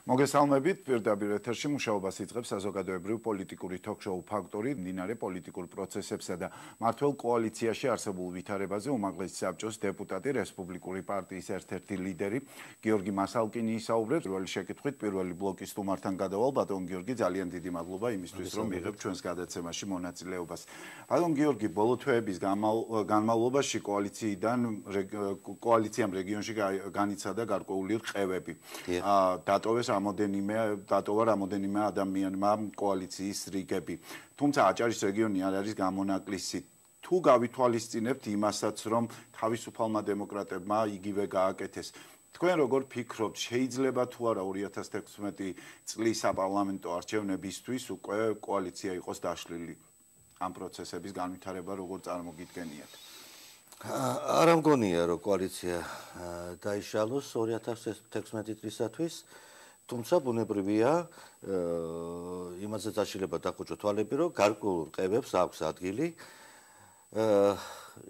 მოგესალმებით, პირდაპირ ეთერში მუშაობას იწყებს საზოგადოებრივ პოლიტიკური თოქ-შოუ ფაქტორი, მდინარე პოლიტიკურ პროცესებსა და მმართველ კოალიციაში არსებულ ვითარებაზე უმაღლესი საბჭოს დეპუტატი, რესპუბლიკური პარტიის ერთ-ერთი ლიდერი გიორგი მასალკინი ისაუბრებს. პირველი შეკითხვით, პირველი ბლოკის სტუმართან გადავალ. ბატონ გიორგი, ძალიან დიდი მადლობა იმისთვის, რომ მიიღებთ ჩვენს გადაცემაში მონაწილეობას. ბატონ გიორგი, ბოლო თვეების განმავლობაში კოალიციამ რეგიონში განიცადა გარკვეული რყევები. დატოვა რამოდენიმე ადამიანმა კოალიციის რიგები. თუმცა აჭარის რეგიონი არ არის გამონაკლისი. თუ გავითვალისწინებთ იმასაც, რომ თავისუფალმა დემოკრატებმა იგივე გააკეთეს. თქვენ როგორ ფიქრობთ, შეიძლება თუ არა 2016 წლის საპარლამენტო არჩევნებისთვის უკვე კოალიცია იყოს დაშლილი? ამ პროცესების განვითარება როგორ წარმოგიდგენიათ? არ ამგონია, რომ კოალიცია დაიშალოს 2016 წლისათვის. თუმცა ბუნებრივია იმაზე დაშლება დახუჭო თვალები, რომ გარკვეულ რყევებს აქვს ადგილი.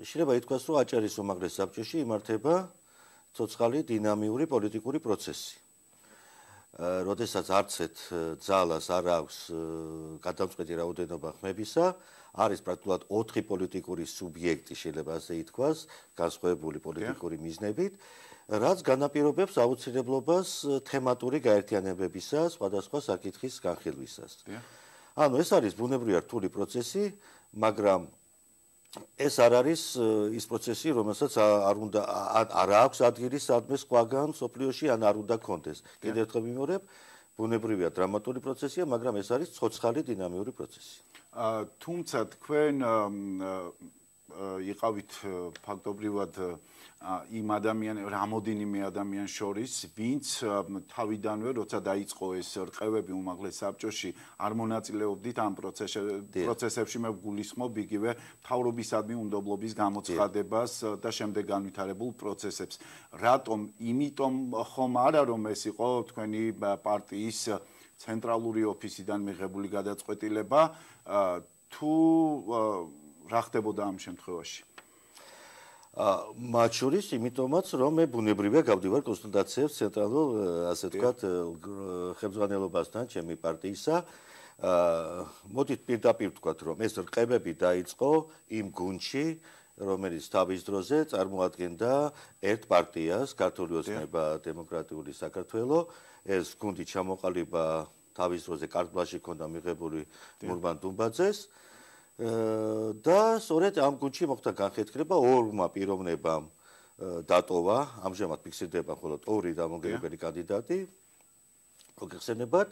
შეიძლება ითქვას, რომ აჭარის უმაღლეს საბჭოში იმართება ცოცხალი დინამიური პოლიტიკური პროცესი. როდესაც არცეთ ძალას არ აქვს გადამწყვეტი რაოდენობა ხმებისა, არის პრაქტიკულად 4 პოლიტიკური სუბიექტი, შეიძლება ასე ითქვას, განსხვავებული პოლიტიკური მიზნებით, რაც განაპირობებს აუცილებლობას თემატური გაერთიანებებისა, სხვადასხვა საკითხის განხილვისას. ანუ ეს არის ბუნებრივია რთული პროცესი, მაგრამ ეს არ არის ის პროცესი, რომელსაც არ აქვს ადგილი სადმე სხვაგან სოფლიოში ან არ უნდა კონდეს. კიდევ ერთხელ ვიმეორებ, ბუნებრივია დრამატული პროცესია, მაგრამ ეს არის ცოცხალი დინამიური პროცესი. თუმცა თქვენ იყავით ფაქტობრივად იმ რამოდენიმე ადამიანს შორის, ვინც თავიდანვე, როცა დაიწყო ეს რყევები უმაღლეს საბჭოში, არ მონაწილეობდით ამ პროცესებში. მე გულისხმობ იგივე მთავრობისადმი უნდობლობის გამოცხადებას და შემდეგ განვითარებულ პროცესებს. რატომ? იმიტომ ხომ არა, რომ ეს იყო თქვენი პარტიის ცენტრალური ოფისიდან მიღებული გადაწყვეტილება, თუ რა ხდებოდა ამ შემთხვევაში? მათ შორის იმიტომაც, რომ მე ბუნებრივია გავდივარ კონსულტაციებს ცენტრალურ, ასე ვთქვათ, ხელმძღვანელობასთან ჩემი პარტიისა. მოდით პირდაპირ ვთქვათ, რომ ეს რყევები დაიწყო იმ გუნდში, რომელიც თავის დროზე წარმოადგენდა ერთ პარტიას, ქართული ოცნება დემოკრატიული საქართველო. ეს გუნდი ჩამოყალიბა თავის დროზე კარტბლანში ჰქონდა მიღებული მურმან დუმბაძეს. და სწორედ ამ გუნდში მოხდა განხეთქილება, ორმა პიროვნებამ დატოვა, ამჟამად ფიქსირდება მხოლოდ 2 დამოუკიდებელი კანდიდატი. მოგეხსენებათ,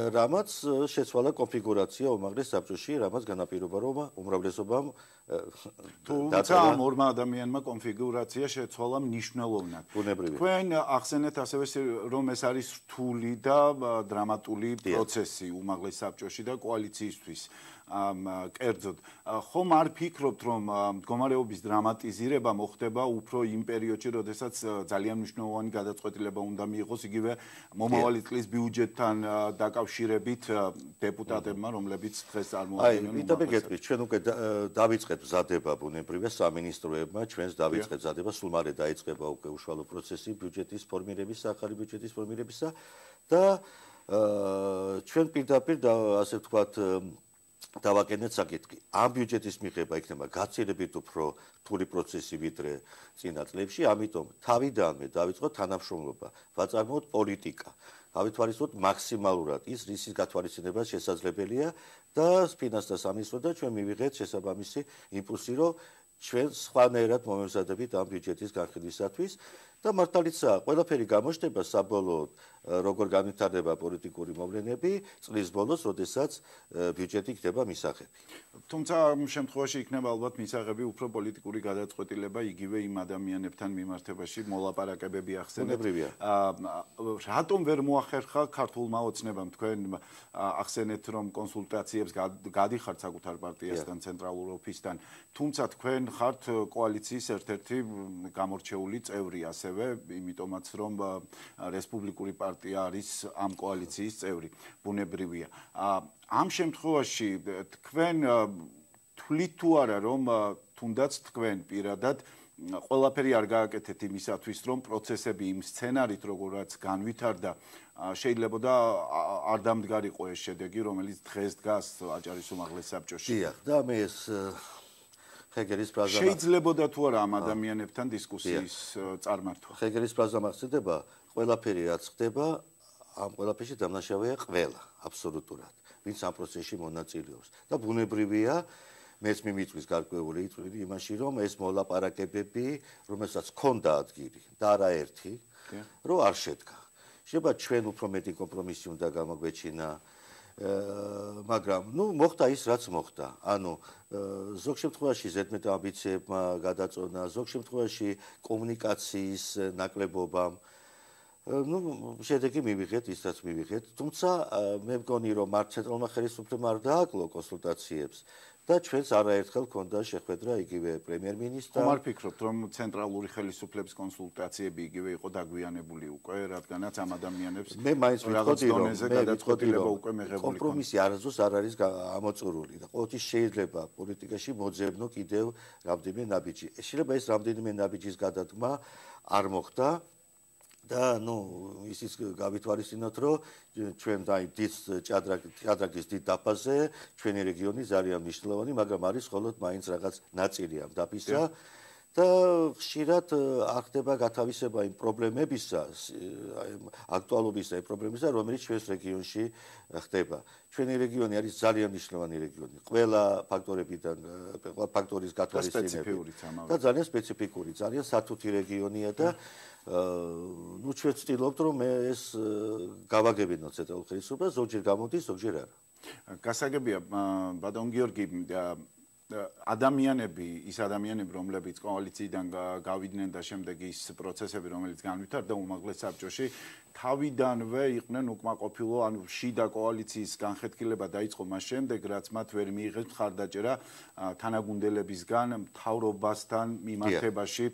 რამაც შეცვალა კონფიგურაცია უმაღლეს საბჭოში, რამაც განაპირობა, რომ უმრავლესობამ თუმცა ამ ორმა ადამიანმა კონფიგურაცია შეცვალა მნიშვნელოვნად. თქვენ ახსენეთ ასევე, რომ ეს არის რთული და დრამატული პროცესი უმაღლეს საბჭოში და კოალიციისთვის. კერძოდ, ხომ არ ფიქრობთ, რომ მდგომარეობის დრამატიზირება მოხდება უფრო იმ პერიოდში, როდესაც ძალიან მნიშვნელოვანი გადაწყვეტილება უნდა მიიღოს იგივე მომავალი წლის ბიუჯეტთან დაკავშირებით დეპუტატებმა, რომლებიც დღეს წარმოადგენენ. ვიდრე გეტყვით, ჩვენ უკვე დავიწყეთ მზადება ბუნებრივია სამინისტროებმა, ჩვენს დავიწყეთ მზადება, სულ მალე დაიწყება უკვე უშუალო პროცესი ბიუჯეტის ფორმირებისა, ახალი ბიუჯეტის ფორმირებისა და ჩვენ პირდაპირ ასე ვთქვათ დავაკენეთ საკითხი. ამ ბიუჯეტის მიღება იქნება გაცილებით უფრო რთული პროცესი ვიდრე წინა წლებში, ამიტომ თავიდანვე დავიწყოთ თანამშრომლობა, ვაწარმოოთ პოლიტიკა, გავითვალისწინოთ მაქსიმალურად ის, რისის გათვალისწინება შესაძლებელია და ფინანსთა სამინისტრო და ჩვენ მივიღეთ შესაბამისი იმპულსი, რომ ჩვენ სხვანაირად მომევზადებით ამ ბიუჯეტის განხილვისათვის და მართალიცაა, ყველაფერი გამოჩნდება საბოლოოდ, როგორ განვითარდება პოლიტიკური მოვლენები წლის ბოლოს, როდესაც ბიუჯეტი იქნება მისაღები. თუმცა ამ შემთხვევაში იქნება ალბათ მისაღები უფრო პოლიტიკური გადაწყვეტილება იგივე იმ ადამიანებთან მიმართებაში მოლაპარაკებები ახსენეთ. რატომ ვერ მოახერხა ქართულმა ოცნებამ? თქვენ ახსენეთ, რომ კონსულტაციებს გადიხართ საკუთარ პარტიასთან, ცენტრალურ ოფისთან, თუმცა თქვენ ხართ კოალიციის ერთ-ერთი გამორჩეული წევრი ასევე, იმიტომაც რომ რესპუბლიკური პარტია არის ამ კოალიციის წევრი, ბუნებრივია. ამ შემთხვევაში თქვენ თვლით თუ არა რომ თუნდაც თქვენ პირადად ყველაფერი არ გააკეთეთ იმისათვის რომ პროცესები იმ სცენარით როგორაც განვითარდა შეიძლება და არ დამდგარიყო ეს შედეგი რომელიც დღეს დგას აჭარის უმაღლეს საბჭოში. დიახ, და მე ეს ხეგერის ფრაზა შეიძლებოდა თუ არა ამ ადამიანებთან დისკუსიის წარმართვა. ხეგერის ფრაზა მახსოვდება, ყველაფერი რაც ხდება, ამ ყველაფერში დამნაშავეა ყველა, აბსოლუტურად, ვინც ამ პროცესში მონაწილეობს. და ბუნებრივია მეც მიმიწვის გარკვეული იწვილი იმაში, რომ ეს მოლაპარაკებები, რომელსაც ჰქონდა ადგილი და არაერთი, რომ არ შედგა. შეიძლება ჩვენ უფრო მეტი კომპრომისი უნდა გამოგვეჩინა, მაგრამ მოხდა ის, რაც მოხდა. ანუ ზოგ შემთხვევაში ზედმეტ ამბიციებმა გადაწონა, ზოგ შემთხვევაში კომუნიკაციის ნაკლებობამ შედეგი მივიღეთ ის რაც მივიღეთ, თუმცა მე მგონი რომ მართ ცენტრალურმა ხელისუფლებამ არ დააკლო კონსულტაციებს და ჩვენს არაერთხელ ჰქონდა შეხვედრა იგივე პრემიერ-მინისტრთან. ხომ არ ფიქრობთ რომ ცენტრალური ხელისუფლების კონსულტაციები იგივე იყო დაგვიანებული უკვე, რადგანაც ამ ადამიანებს მე მაინც ვიტყოდი რომ უკვე მიღებული კომპრომისი არასდროს არ არის ამოწურული და ყოველთვის შეიძლება პოლიტიკაში მოძებნო კიდევ რამდენიმე ნაბიჯი. შეიძლება ეს რამდენიმე ნაბიჯის გადადგმა არ მოხდა. და ისიც გავითვალისწინოთ, რომ ჩვენ დიდ ჭადრაკის დიდ დაფაზე ჩვენი რეგიონი ძალიან მნიშვნელოვანი, მაგრამ არის მხოლოდ მაინც რაღაც ნაწილი ამ დაფისა და ხშირად არ ხდება გათავისება იმ პრობლემებისა, აქტუალობისა იმ პრობლემებისა, რომელიც ჩვენს რეგიონში ხდება. ჩვენი რეგიონი არის ძალიან მნიშვნელოვანი რეგიონი, ყველა ფაქტორებიდან, ყველა ფაქტორის გათვალისწინებით და ძალიან სპეციფიკური, ძალიან სათუთი რეგიონია და ჩვენ ვცდილობთ რომ ეს გავაგებინოთ ცენტრალურ ხელისუფლებას, ზოგჯერ გამოდის, ზოგჯერ არა. გასაგებია, ბატონ გიორგი, ადამიანები, ის ადამიანები, რომლებიც კოალიციიდან გავიდნენ და შემდეგ ის პროცესები, რომელიც განვითარდა უმაღლეს საბჭოში, თავიდანვე იყვნენ უკმაყოფილო, ანუ შიდა კოალიციის განხეთქილება დაიწყო მას შემდეგ, რაც მათ ვერ მიიღეს მხარდაჭერა თანაგუნდელებისგან მთავრობასთან მიმართებაში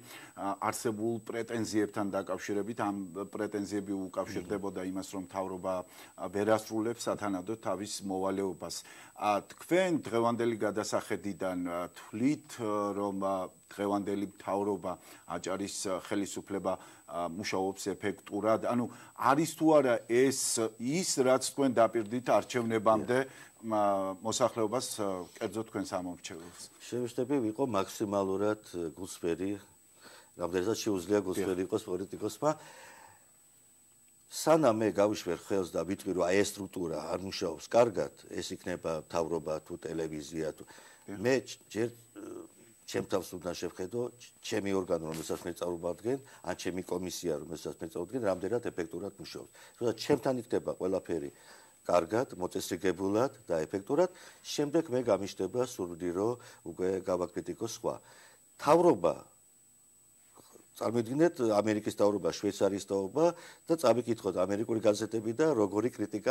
არსებულ პრეტენზიებთან დაკავშირებით. ამ პრეტენზიები უკავშირდებოდა იმას, რომ მთავრობა ვერ ასრულებს სათანადოდ თავის მოვალეობას. თქვენ დღევანდელი გადასახედიდან თვლით, რომ დღევანდელი მთავრობა აჭარის ხელისუფლება მუშაობს ეფექტურად, ანუ არის თუ არა ეს ის, რაც თქვენ დაპირდით არჩევნებამდე მოსახლეობას, კერძოდ თქვენს ამომრჩეველს? შევეშტები ვიყო მაქსიმალურად გულსვერი, რამდენადაც შეუძლია გულსვერი იყოს პოლიტიკოსმა. სანამ მე გავიშვერ ხელს და ვიტყვი რომ ეს სტრუქტურა არ მუშაობს კარგად, ეს იქნება მთავრობა თუ ტელევიზია თუ მე ჯერ ჩემ თავს უნდა შევხედო ჩემი ორგანო რომელსაც მე წარუმადგენ, ან ჩემი კომისია რომელსაც მე წარუმადგენ, რამდენად ეფექტურად მუშაობს. როცა ჩემთან იქნება ყველაფერი კარგად, მოწესრიგებულად და ეფექტურად, შემდეგ მე გამიშტება სურვილი რომ უკვე გავაკრიტიკოს სხვა. მთავრობა წარმოიდგინეთ ამერიკის მთავრობა, შვეიცარიის მთავრობა და წავიკითხოთ ამერიკული გაზეთები და როგორი კრიტიკა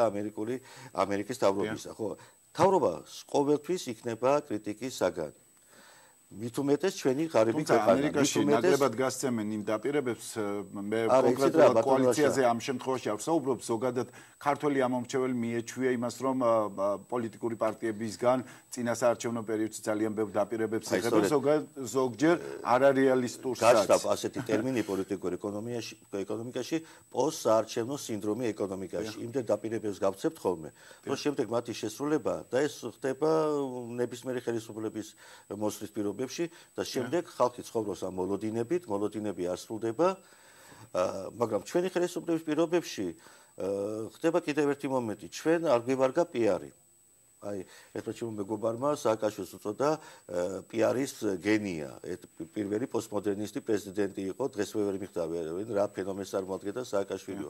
ამერიკის მთავრობისა, ხო? მთავრობა ყოველთვის იქნება კრიტიკის საგანი. მით უმეტეს ჩვენი ღარიბი ქვეყანა. ამერიკაში ნაკლებად გასცემენ იმ დაპირებებს, მე კონკრეტულად კოალიციაზე ამ შემთხვევაში არ ვსაუბრობ, ზოგადად ქართველი ამომრჩეველი მიეჩვია იმას, რომ პოლიტიკური პარტიებისგან წინასაარჩევნო პერიოდში ძალიან ბევრ დაპირებებს იღებენ, ზოგჯერ არარეალისტურსაც. გაჩნდა ასეთი ტერმინი პოლიტიკურ ეკონომიკაში, პოსტსაარჩევნო სინდრომი ეკონომიკაში. იმდენ დაპირებებს გავცემთ ხოლმე, რომ შემდეგ მათი შესრულება და ეს ხდება ნებისმიერი ხელისუფლების მოსვლის პირობებში და შემდეგ ხალხი ცხოვრობს ამ მოლოდინებით, მოლოდინები არ სრულდება, მაგრამ ჩვენი ხელისუფლების პირობებში ხდება კიდევ ერთი მომენტი, ჩვენ არ გვივარგა პიარი. აი, ერთმა ჩემმა მეგობარმა სააკაშვილს უწოდა პიარის გენია, პირველი პოსტმოდერნისტი პრეზიდენტი იყო, დღეს ვერ მიხდავ რა ფენომენს წარმოადგენდა სააკაშვილიო.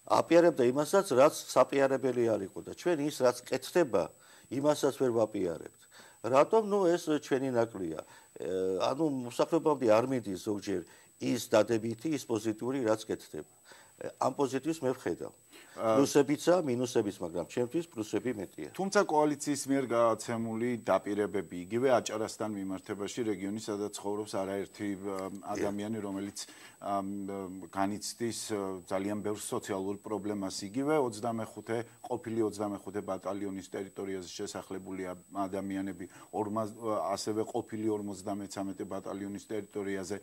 აპიარებდა იმასაც, რაც საპიარებელი არ იყო და ჩვენ ის რაც კეთდება, იმასაც ვერ ვაპიარებთ. რატომ? ეს ჩვენი ნაკლია. ანუ მოსახლეობამდე არ მიდის ზოგჯერ ის დადებითი, ის პოზიტიური, რაც კეთდება. ამ პოზიტივს მე ვხედავ. პლუსებიცა, მინუსებიც, მაგრამ ჩემთვის პლუსები მეტია. თუმცა კოალიციის მიერ გადაცემული დაპირებები იგივე აჭარასთან მიმართებაში რეგიონის სადაც ცხოვრობს არაერთი ადამიანი, რომელიც განიცდის ძალიან ბევრ სოციალურ პრობლემას, იგივე 25 ყოფილი 25 ბატალიონის ტერიტორიაზე შესახლებული ადამიანები, ასევე ყოფილი 53 ბატალიონის ტერიტორიაზე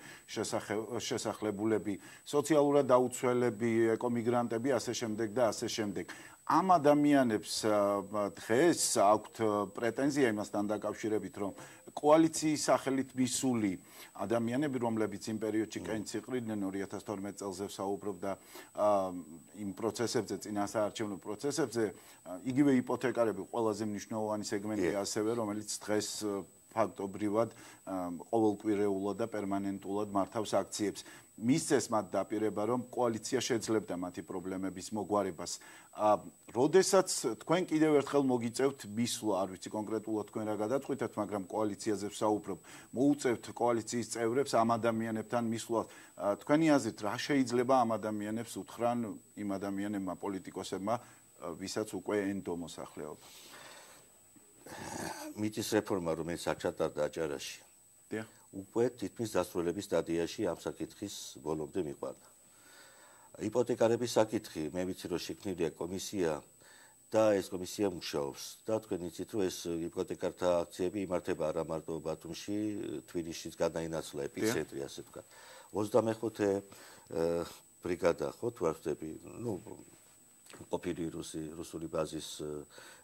შესახლებულები, სოციალურად დაუცველები, ეკომიგრანტები, ასე შემდეგ და ასე შემდეგ. ამ ადამიანებს დღეს აქვთ პრეტენზია იმასთან დაკავშირებით, რომ კოალიციის სახელით მისული ადამიანები, რომლებიც იმ პერიოდში კენჭს იყრიდნენ 2012 წელს საუბრობდა იმ პროცესებზე, წინასაარჩევნო პროცესებზე, იგივე იპოთეკარები ყველაზე მნიშვნელოვანი სეგმენტია ასევე, რომელიც დღეს ფაქტობრივად ყოველკვირეულად და პერმანენტულად მართავს აქციებს. მისცეს მათ დაპირება, რომ კოალიცია შეძლებდა მათი პრობლემების მოგვარებას. როდესაც თქვენ კიდევ ერთხელ მოგიწევთ მისვლა, არ ვიცი კონკრეტულად თქვენ რა გადაწყვიტეთ, მაგრამ კოალიციაზე ვსაუბრობ, მოუწევთ კოალიციის წევრებს ამ ადამიანებთან მისვლა. თქვენი აზრით, რა შეიძლება ამ ადამიანებს უთხრან იმ ადამიანებმა პოლიტიკოსებმა, ვისაც უკვე ენდო მოსახლეობა? მიწის რეფორმა, რომელიც აჩატარდა აჭარაში. უკვე თითქმის დასრულების სტადიაში ამ საკითხის ბოლომდე მიყვანა. იპოთეკარების საკითხი, მე ვიცი რომ შექმნილია კომისია და ეს კომისია მუშაობს და თქვენ იცით რომ ეს იპოთეკართა აქციები იმართება არა მარტო ბათუმში, თბილისშიც გადაინაცვლა ეპიცენტრი, ასე ვთქვათ. 25 ბრიგადა ხო თუ არ ვწდები, ყოფილი რუსული ბაზის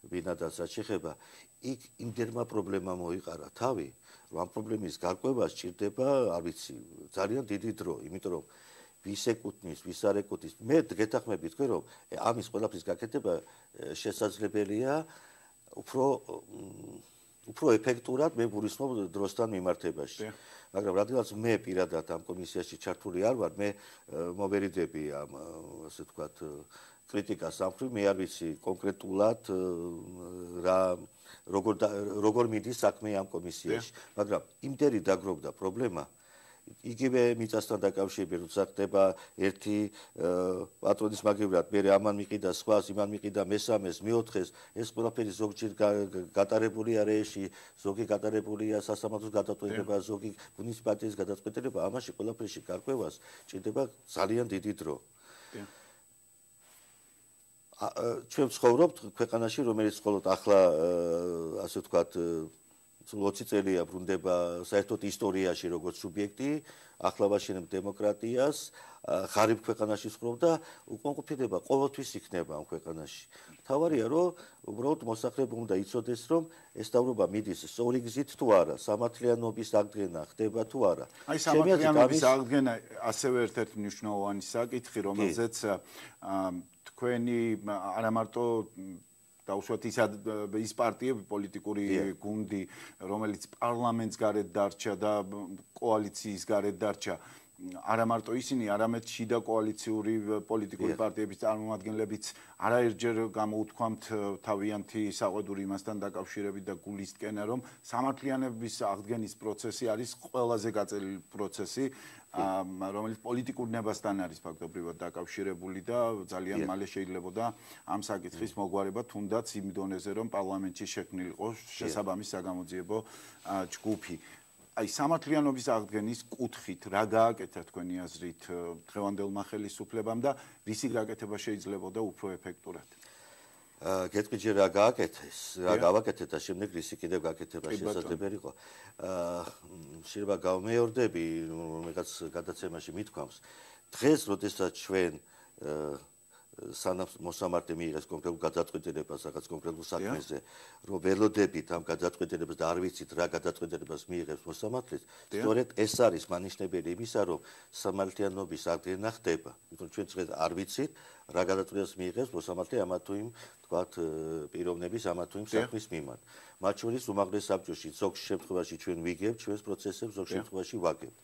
ბინადარსაც შეხება, იქ იმდენმა პრობლემა მოიყარა თავი, რომ ამ პრობლემის გარკვევა სჭირდება, არ ვიცი, ძალიან დიდი დრო, იმიტომ რომ ვის ეკუთვნის, ვის არ ეკუთვნის. მე გეთანხმები თქვენ, რომ ამის ყველაფრის გაკეთება შესაძლებელია უფრო ეფექტურად მე გულისხმობ დროსთან მიმართებაში. მაგრამ რადგანაც მე პირადად ამ კომისიაში ჩართული არ ვარ, მე მოვერიდები ამ ასე ვთქვათ კრიტიკას ამხრივ, მე არ ვიცი კონკრეტულად როგორ მიდის საქმე ამ კომისიაში, მაგრამ იმდენი დაგროვდა პრობლემა, იგივე მიწასთან დაკავშირებით, როცა ხდება ერთი პატრონის მაგივრად, მე ამან მიყიდა სხვას, იმან მიყიდა მესამეს, მეოთხეს, ეს ყველაფერი ზოგჯერ გატარებული არეში, ზოგი გატარებულია სასამართლოს გადაწყვეტილება, ზოგი მუნიციპალიტეტის გადაწყვეტილება, ამაში ყველაფერში გარკვევას ჭირდება ძალიან დიდი დრო. ჩვენ ვცხოვრობთ ქვეყანაში, რომელიც მხოლოდ ახლა ასე ვთქვათ 20 წელია ბრუნდება საერთოდ ისტორიაში როგორც სუბიექტი, ახლა ვაშენებ დემოკრატიას, ღარიბ ქვეყანაში ვცხოვრობ და უკმაყოფილება ყოველთვის იქნება ამ ქვეყანაში. თავარია რომ უბრალოდ მოსახლეობამ უნდა იცოდეს, რომ ეს დავრობა მიდის სწორი გზით თუ არა, სამართლიანობის აღდგენა ხდება თუ არა. აი სამართლიანობის აღდგენა ასევე ერთ-ერთი მნიშვნელოვანი საკითხი, რომელზეც თქვენი არა მარტო დაუშვათ ის პარტიები, პოლიტიკური გუნდი, რომელიც პარლამენტს გარეთ დარჩა და კოალიციის გარეთ დარჩა, არა მარტო ისინი, არამედ შიდა კოალიციური პოლიტიკური პარტიების წარმომადგენლებიც არაერთჯერ გამოუთქვამთ თავიანთი საყვედური იმასთან დაკავშირებით და გულისკენა, რომ სამართლიანობის აღდგენის პროცესი არის ყველაზე გაწელილი პროცესი, რომელიც პოლიტიკურ ნებასთან არის ფაქტობრივად დაკავშირებული და ძალიან მალე შეიძლებოდა ამ საკითხის მოგვარება, თუნდაც იმ დონეზე, რომ პარლამენტში შექმნილიყო შესაბამის საგამოძიებო ჯგუფი. აი სამართლიანობის აღდგენის კუთხით რა გააკეთა თქვენი აზრით დღევანდელმა ხელისუფლებამ და რისი გაკეთება შეიძლებოდა უფრო ეფექტურად? გეტყვი ჯერ რა გააკეთეს, რა გავაკეთეთ და შემდეგ რისი კიდევ გაკეთება შესაძლებელი იყო. შეიძლება გავმეორდები, რომელიღაც გადაცემაში მithქვამს. დღეს, როდესაც ჩვენ სანამ მოსამართლე მიიღეს კონკრეტულ გადაწყვეტილებას რაღაც კონკრეტულ საქმეზე, რომ ველოდებით ამ გადაწყვეტილებას და არ ვიცით რა გადაწყვეტილებას მიიღებს მოსამართლეს, სწორედ ეს არის მანიშნებელი იმისა, რომ სამართლიანობის აღდგენა ხდება. იმიტომ ჩვენ დღეს არ ვიცით რა გადაწყვეტილებას მიიღებს მოსამართლე ამა თუ იმ თქვათ პიროვნების ამა თუ იმ საქმის მიმართ. მათ შორის უმაღლეს საბჭოში ზოგ შემთხვევაში ჩვენ ვიგებთ ჩვენს პროცესებს, ზოგ შემთხვევაში ვაგებთ.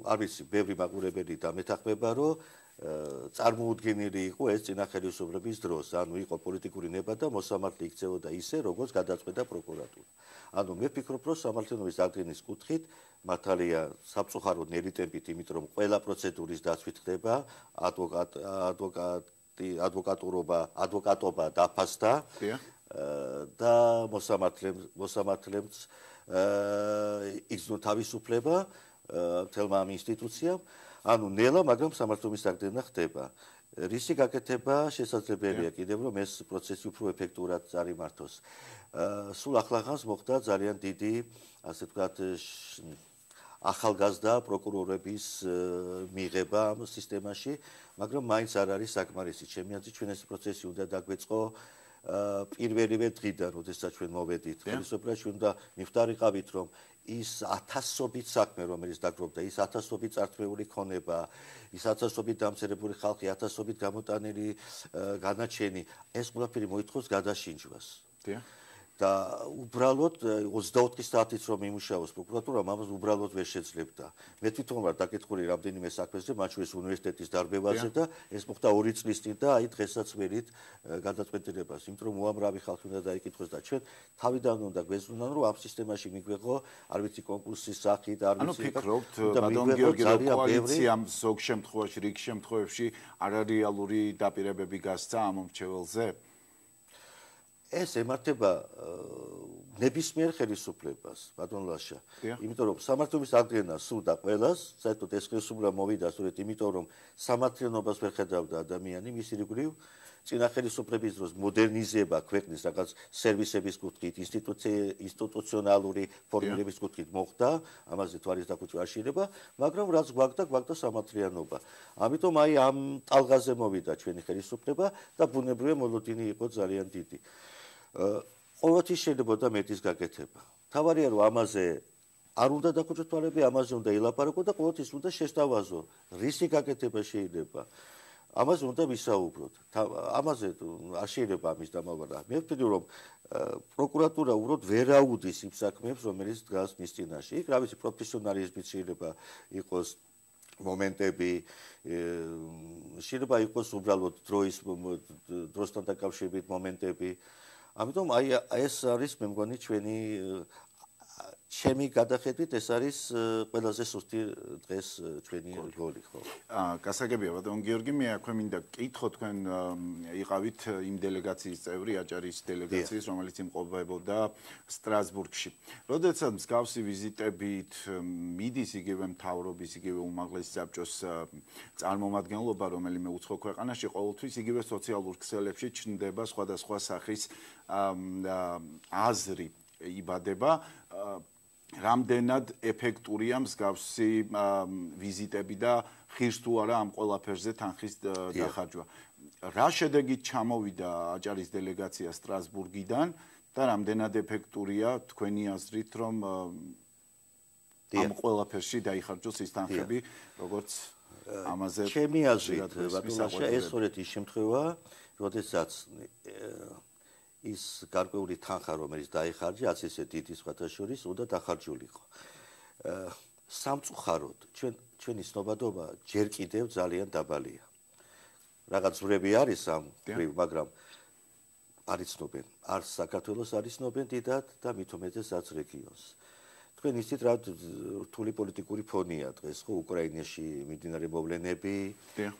არ ვიცი, ბევრი მაყურებელი დამეთანხმება, რომ წარმოუდგენელი იყო ეს წინა ხელისუფლების დროს, ანუ იყო პოლიტიკური ნება და მოსამართლე იქცეოდა ისე, როგორც გადაწყვეტა პროკურატურა. ანუ მე ვფიქრობ, რომ სამართლიანობის აღდგენის კუთხით მართალია საფწუხაროდ ნელი ტემპით, იმიტომ რომ ყველა პროცედურის დაცვით ხდება, ადვოკატობა დაფასდა და მოსამართლემს იგზნო თავისუფლება მთელმა ამ ინსტიტუციამ, ანუ ნელა, მაგრამ სამართლობის აღდგენა ხდება. რისი გაკეთება შესაძლებელია კიდევ, რომ ეს პროცესი უფრო ეფექტურად წარიმართოს. სულ ახლახანს მოხდა ძალიან დიდი, ასე ვთქვათ, ახალგაზრდა პროკურორების მიღება ამ სისტემაში, მაგრამ მაინც არ არის საკმარისი. ჩემი აზრით, ჩვენ ეს პროცესი უნდა დაგვეწყო პირველივე დღიდან, როდესაც ჩვენ მოვედით ხელისუფლებაში, უნდა მივხვდარიყავით, რომ ის ათასობით საქმე, რომელიც დაგროვდა, ის ათასობით წართმეული ქონება, ის ათასობით დამცირებული ხალხი, ათასობით გამოტანილი განაჩენი, ეს ყველაფერი მოითხოვს გადაშინჯვას. და უბრალოდ 24 საათით რომ იმუშაოს პროკურატურამ ამას უბრალოდ ვერ შეძლებდა. მე თვითონ ვარ დაკითხული რამდენიმე საქმეზე, მათ შორის უნივერსიტეტის დარბევაზე და ეს მოხდა 2 წლის წინ და აი დღესაც ვერით გადაწყვეტილებას, იმიტომ რომ უამრავი ხალხი უნდა დაიკითხოს და ჩვენ თავიდან უნდა გვეზრუნან, რომ ამ სისტემაში მიგვეღო, არ ვიცი კონკურსის სახით, არ ვიცი. ანუ ფიქრობთ, ბატონ გიორგი, რომ კოალიციამ ზოგ შემთხვევაში, რიგ შემთხვევებში არარეალური დაპირებები გასცა ამ მომრჩეველზე? ეს ემართება ნებისმიერ ხელისუფლებას, ბატონ ლაშა. იმიტომ რომ სამართლობის აღდგენა სურდა ყველას, საერთოდ ეს ხელისუფლება მოვიდა სწორედ იმიტომ რომ სამართლიანობას ვერ ხედავდა ადამიანი მისი რიგრიგ წინა ხელისუფლების დროს მოდერნიზება ქვეყნის რაღაც სერვისების კუთხით, ინსტიტუციონალური ფორმირების კუთხით მოხდა, ამაზე თვალის დაკუჭვა არ შეიძლება, მაგრამ რაც გვაქვს სამართლიანობა. ამიტომ აი ამ ტალღაზე მოვიდა ჩვენი ხელისუფლება და ბუნებრივია მოლოდინი იყო ძალიან დიდი. ყოველთვის შეიძლება მეტის გაკეთება. თავარია რომ ამაზე არ უნდა დაკუჭოთ თვალები, ამაზე უნდა ილაპარაკო და ყოველთვის უნდა შესთავაზო, რისი გაკეთება შეიძლება. ამაზე უნდა ვისაუბროთ. ამაზე არ შეიძლება ამის დამალვა. მე ვფიქრობ, რომ პროკურატურა უბრალოდ ვერ აუდის იმ საქმეებს, რომელიც დგას მის წინაშე. იქ რა ვიცი, პროფესიონალიზმით შეიძლება იყოს მომენტები, შეიძლება იყოს უბრალოდ დროსთან დაკავშირებით მომენტები. ამიტომ აი ეს არის მე მგონი ჩემი გადახედვით ეს არის ყველაზე სუსტი დღეს ჩვენი როლი, ხო? გასაგებია, ბატონ გიორგი, მე აქვე მინდა კითხო, თქვენ იყავით იმ დელეგაციის წევრი, აჭარის დელეგაციის, რომელიც იმყოფებოდა სტრასბურგში. როდესაც მსგავსი ვიზიტებით მიდის იგივე მთავრობის, იგივე უმაღლესი საბჭოს წარმომადგენლობა, რომელიმე უცხო ქვეყანაში, ყოველთვის იგივე სოციალურ ქსელებში ჩნდება სხვადასხვა სახის აზრი იბადება. რამდენად ეფექტურია მსგავსი ვიზიტები და ხირს თუ არა ამ ყველაფერზე თანხის დახარჯვა. რა შედეგით ჩამოვიდა აჭარის დელეგაცია სტრასბურგიდან და რამდენად ეფექტურია თქვენი აზრით, რომ ამ ყველაფერში დაიხარჯოს ის თანხები, როგორც ამაზე ჩემი აზრით, ბატონ ლაშა, ეს სწორედ ის შემთხვევაა, როდესაც ის გარკვეული თანხა, რომელიც დაიხარჯა, ასე დიდი სხვათა შორის, უნდა დახარჯულიყო. სამწუხაროდ, ჩვენი ცნობადობა ჯერ კიდევ ძალიან დაბალია. რაღაც ზვრები არის ამ ხრივ, მაგრამ არ იცნობენ, არც საქართველოს არ იცნობენ დიდად და მით უმეტესაც რეგიონს. თქვენ იცით რა რთული პოლიტიკური ფონია დღეს, ხო, უკრაინაში მიმდინარე მოვლენები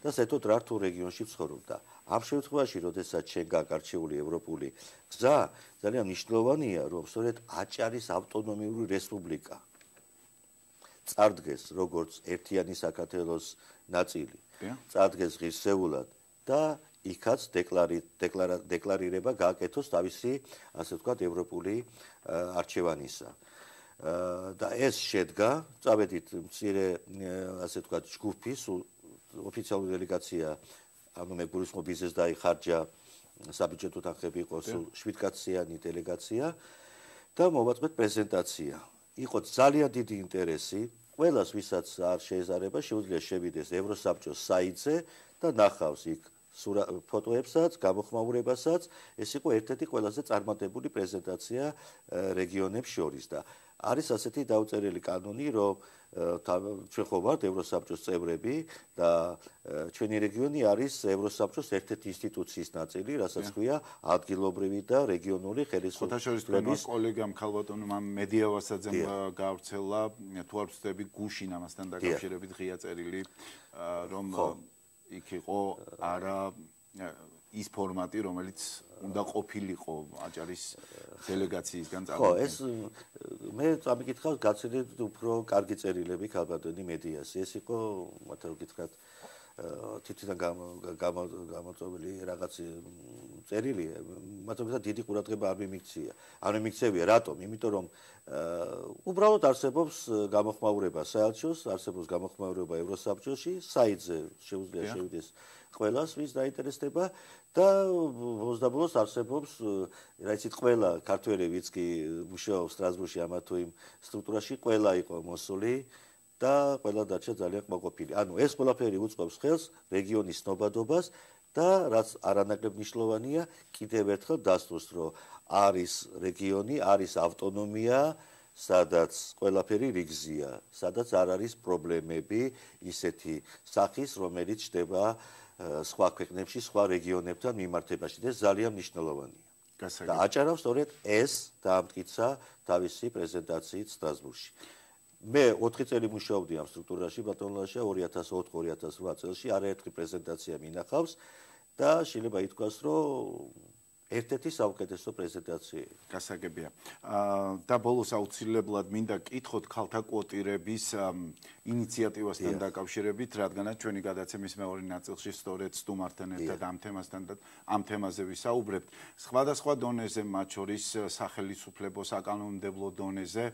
და საერთოდ რა რთულ რეგიონში ცხოვრობდა. ამ შემთხვევაში, როდესაც ჩვენ გაგარჩეული ევროპული გზა, ძალიან მნიშვნელოვანია, რომ სწორედ აჭარის ავტონომიური რესპუბლიკა წარდგეს როგორც ერთიანი საქართველოს ნაწილი, წარდგეს ღირსეულად და იქაც დეკლარირება გააკეთოს თავისი, ასე ვთქვათ, ევროპული არჩევანისა. და ეს შედგა, წავედით მცირე, ასე ვთქვათ, ჯგუფის ოფიციალური დელეგაცია, ანუ მე გულისხმობ ისეს დაიხარჯა საბიუჯეტო თანხები იყო 7 კაციანი დელეგაცია და მოვაწყვეთ პრეზენტაცია. იყო ძალიან დიდი ინტერესი, ყველას ვისაც არ შეეზარება, შეუძლია შევიდეს ევროსაბჭოს საიტზე და ნახავს იქ ფოტოებსაც, გამოხმაურებასაც, ეს იყო ერთ-ერთი ყველაზე წარმატებული პრეზენტაცია რეგიონებს შორის და არის ასეთი დაუწერელი კანონი, რომ ჩვენ ხო ვართ ევროსაბჭოს წევრები და ჩვენი რეგიონი არის ევროსაბჭოს ერთ-ერთი ინსტიტუციის ნაწილი, რასაც ქვია ადგილობრივი და რეგიონული ხელისუფლების. კოლეგამ ქალბატონმა მედიავასაძემ გავრცელა, თუ არ ვცდები, გუშინ ამასთან დაკავშირებით ღია წერილი, რომ იქ იყო არა ის ფორმატი, რომელიც უნდა ყოფილიყო აჭარის დელეგაციისგან ხო, ეს მე წამიკითხავს გაცილებით უფრო კარგი წერილები ქალბატონი მედიას. ეს იყო, მათ რო გითხრათ, თითიდან გამოწვეული რაღაც წერილი, მათ თუმცა დიდი ყურადღება არ მიმიქცია. არ მიმიქცევია, რატომ? იმიტომ რომ უბრალოდ არსებობს გამოხმაურება საელჩოს, არსებობს გამოხმაურება ევროსაბჭოში, საიტზე შეუძლია შევიდეს ყველას, ვის დაინტერესდება და ბოლოს არსებობს, რა იცით, ყველა ქართველი, ვინც კი მუშაობს სტრასბურგში ამა თუ იმ სტრუქტურაში, ყველა იყო მოსული და ყველა დარჩა ძალიან კმაყოფილი. ანუ ეს ყველაფერი უწყობს ხელს რეგიონის ცნობადობას და რაც არანაკლებ მნიშვნელოვანია, კიდევ ერთხელ დასტურს, რომ არის რეგიონი, არის ავტონომია, სადაც ყველაფერი რიგზია, სადაც არ არის პრობლემები ისეთი სახის, რომელიც ხდება სხვა ქვეყნებში, სხვა რეგიონებთან მიმართებაში და ძალიან მნიშვნელოვანია. და აჭარამ სწორედ ეს დაამტკიცა თავისი პრეზენტაციით სტრასბურგში. მე 4 წელი მუშაობდი ამ სტრუქტურაში ბატონლაშა 2004-2008 წელს არაერთი პრეზენტაცია მინახავს და შეიძლება ითქვას, რომ ერთ-ერთი საუკეთესო პრეზენტაცია. გასაგებია. და ბოლოს აუცილებლად მინდა კითხოთ ქალთა კვოტირების ინიციატივასთან დაკავშირებით, რადგანაც ჩვენი გადაცემის მეორე ნაწილში სწორედ სტუმართან ერთად ამ თემაზე ვისაუბრებთ. სხვადასხვა დონეზე, მათ შორის სახელმწიფო საკანონმდებლო დონეზე,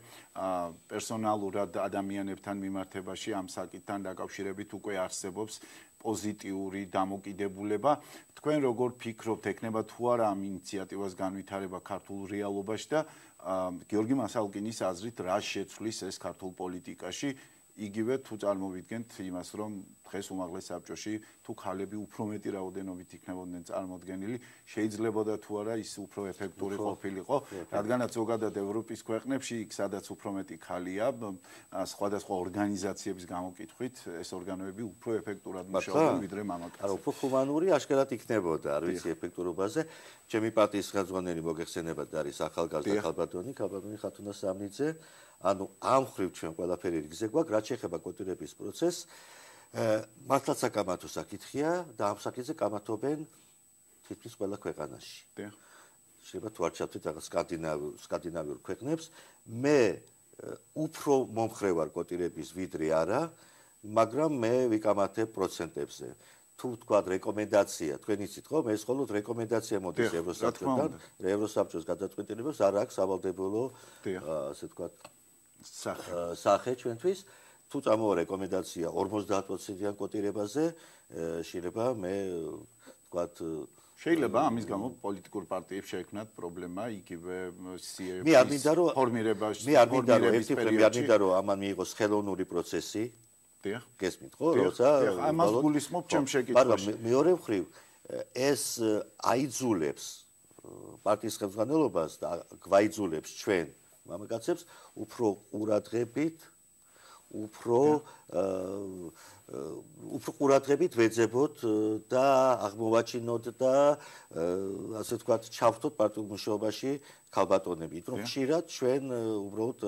პერსონალურად ადამიანებთან მიმართებაში ამ საკითხთან დაკავშირებით უკვე არსებობს პოზიტიური დამოკიდებულება. თქვენ როგორ ფიქრობთ, ექნება თუ არა ამ ინიციატივას განვითარება ქართულ რეალობაში და გიორგი მასალკინის აზრით რა შეცვლის ეს ქართულ პოლიტიკაში, იგივე თუ წარმოვიდგენთ იმას, რომ დღეს უმაღლეს საბჭოში თუ ქალები უფრო მეტი რაოდენობით იქნებოდნენ წარმოდგენილი, შეიძლებოდა თუ არა ის უფრო ეფექტური ყოფილიყო, რადგანაც ზოგადად ევროპის ქვეყნებში, იქ სადაც უფრო მეტი ქალია, სხვადასხვა ორგანიზაციების გამოკითხვით, ეს ორგანოები უფრო ეფექტურად მუშაობენ ვიდრე მამაკაცები. არა, უფრო ჰუმანური აშკარად იქნებოდა, არ ვიცი ეფექტურობაზე. ჩემი პარტიის ხელმძღვანელი მოგეხსენებათ არის ახალგაზრდა ქალბატონი ხათუნა სამნიძე. ანუ ამ ხრივ ჩვენ ყველაფერი რიგზე გვაქვს, რაც შეეხება კვოტირების პროცესს. მართლაც საკამათო საკითხია და ამ საკითხზე კამათობენ თითქმის ყველა ქვეყანაში. შეიძლება თუ არ ჩავთვლით რაღაც სკანდინავიურ ქვეყნებს, მე უფრო მომხრე ვარ კვოტირების ვიდრე არა, მაგრამ მე ვიკამათებ პროცენტებზე. თუ თქვა რეკომენდაცია, თქვენ იცით ხო, მე მხოლოდ რეკომენდაცია მოდის ევროსაბჭოდან, ევროსაბჭოს გადაწყვეტილებებს არ აქვს სავალდებულო, ასე თქვა, სახე ჩვენთვის. თუ წამოვა რეკომენდაცია 50%-იან კვოტირებაზე, შეიძლება მე ვთქვათ, შეიძლება ამის გამო პოლიტიკურ პარტიებს შეექმნათ პრობლემა იგივე სიების ფორმირებაში. მე არ მინდა რომ ამან მიიღოს ხელოვნური პროცესი. გესმით ხო, როცა ამას გულისხმობ ჩემ შეკითხვაში. მაგრამ მეორე მხრივ ეს აიძულებს პარტიის ხელმძღვანელობას და გვაიძულებს ჩვენ მამაკაცებს უფრო ყურადღებით ყურადღებით ვეძებოთ და აღმოვაჩინოთ და ასე ვთქვათ, ჩავთოთ პარტიულ მუშაობაში ქალბატონები, იმიტომ რომ ხშირად ჩვენ უბრალოდ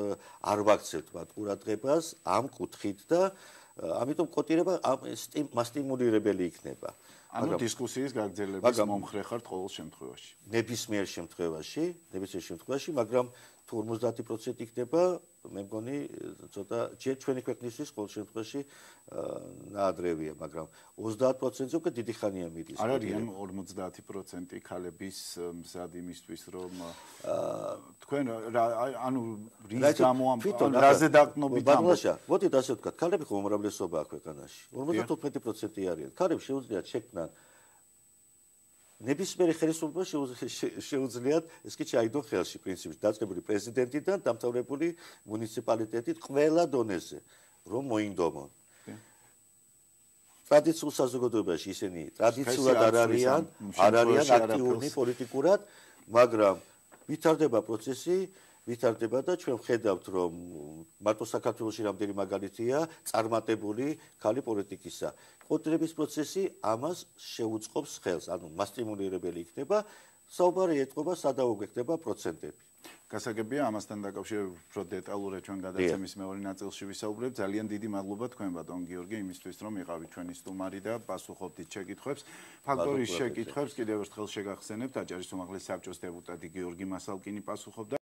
არ ვაქცევთ მათ ყურადღებას ამ კუთხით და ამიტომ კვოტირება მასტიმულირებელი იქნება. ანუ დისკუსიის გაგრძელების მომხრე ხართ ყოველ შემთხვევაში. ნებისმიერ შემთხვევაში, მაგრამ თუ 50% იქნება, მე მგონი ცოტა ჩვენი ქვეყნისთვის ყოველ შემთხვევაში ნაადრევია, მაგრამ 30%-ზე უკვე დიდი ხანია მიდის. არ არიან 50% ქალების მზად იმისთვის, რომ თქვენ ანუ რის გამო რაზე დაყნობით ამბობთ? მოდით ასე ვთქვათ, ქალები ხო უმრავლესობაა ქვეყანაში. 55% არიან. ქალებს შეუძლიათ შექმნან ნებისმიერი ხელისუფლება შეუძლიათ ეს კი ჩაიდონ ხელში პრინციპში დაწყებული პრეზიდენტიდან დამთავრებული მუნიციპალიტეტით ყველა დონეზე რომ მოინდომონ. ტრადიციულ საზოგადოებაში ისინი ტრადიციულად არ არიან აქტიური პოლიტიკურად, მაგრამ ვითარდება პროცესი, ვითარდება და ჩვენ ვხედავთ რომ მარტო საქართველოში რამდენი მაგალითია წარმატებული ქალი პოლიტიკისა. კვოტირების პროცესი ამას შეუწყობს ხელს, ანუ მასტიმულირებელი იქნება, საუბარი ეტყობა სადაუგე ხდება პროცენტები. გასაგებია ამასთან დაკავშირებით უფრო დეტალურად ჩვენ გადაცემის მეორე ნაწილში ვისაუბრებთ. ძალიან დიდი მადლობა თქვენ ბატონ გიორგი იმისთვის რომ იყავით ჩვენი სტუმარი და პასუხობდით შეკითხვებს. ფაქტორის შეკითხვებს კიდევ ერთხელ შეგახსენებთ აჭარის უმაღლესი საბჭოს დეპუტატი გიორგი მასალკინი პასუხობდა